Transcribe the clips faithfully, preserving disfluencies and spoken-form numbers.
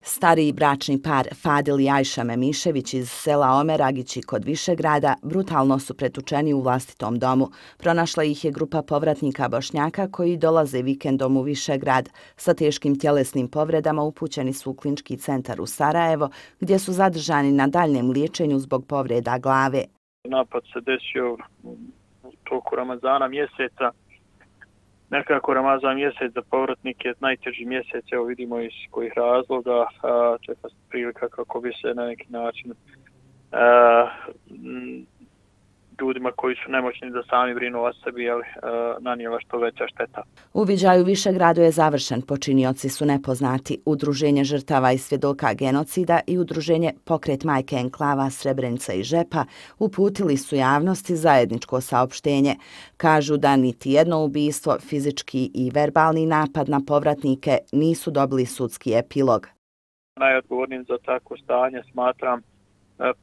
Stariji bračni par Fadil i Ajša Memišević iz sela Omeragići kod Višegrada brutalno su pretučeni u vlastitom domu. Pronašla ih je grupa povratnika Bošnjaka koji dolaze vikendom u Višegrad. Sa teškim tjelesnim povredama upućeni su u Klinički centar u Sarajevo, gdje su zadržani na daljnjem liječenju zbog povreda glave. Napad se desio u toku Ramazana mjeseca. Nekako Ramazan mjesec za povratnike je najteži mjesec, evo vidimo iz kojih razloga, čeka se prilika kako bi se na neki način a, ljudima koji su nemoćni da sami brinu o sebi, ali nanijela što veća šteta. Uviđaj u Višegradu je završen, počinioci su nepoznati. Udruženje žrtava i svjedoka genocida i udruženje Pokret majke enklava Srebrenica i Žepa uputili su javnosti zajedničko saopštenje. Kažu da niti jedno ubistvo, fizički i verbalni napad na povratnike nisu dobili sudski epilog. Najodgovornijim za takvo stanje smatram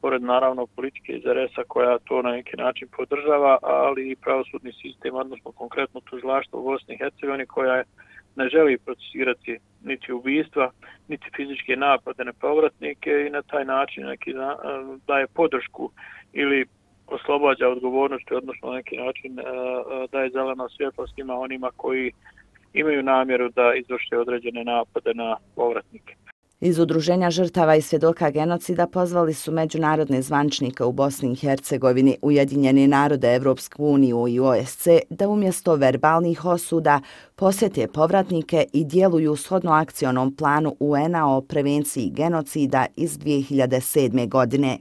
pored naravno politike iz er es a koja to na neki način podržava, ali i pravosudni sistem, odnosno konkretno tužilaštvo u Bosni i Hercegovini koja ne želi procesirati niti ubistva, niti fizičke napade na povratnike i na taj način neki daje podršku ili oslobađa odgovornosti, odnosno na neki način daje zeleno svjetlo svima onima koji imaju namjeru da izvrše određene napade na povratnike. Iz Udruženja žrtava i svjedoka genocida pozvali su međunarodne zvančnike u Bosni i Hercegovini, Ujedinjene narode, Evropsku uniju i o es ce da umjesto verbalnih osuda posjete povratnike i djeluju shodno akcionom planu u en a o prevenciji genocida iz dvije hiljade sedme. godine.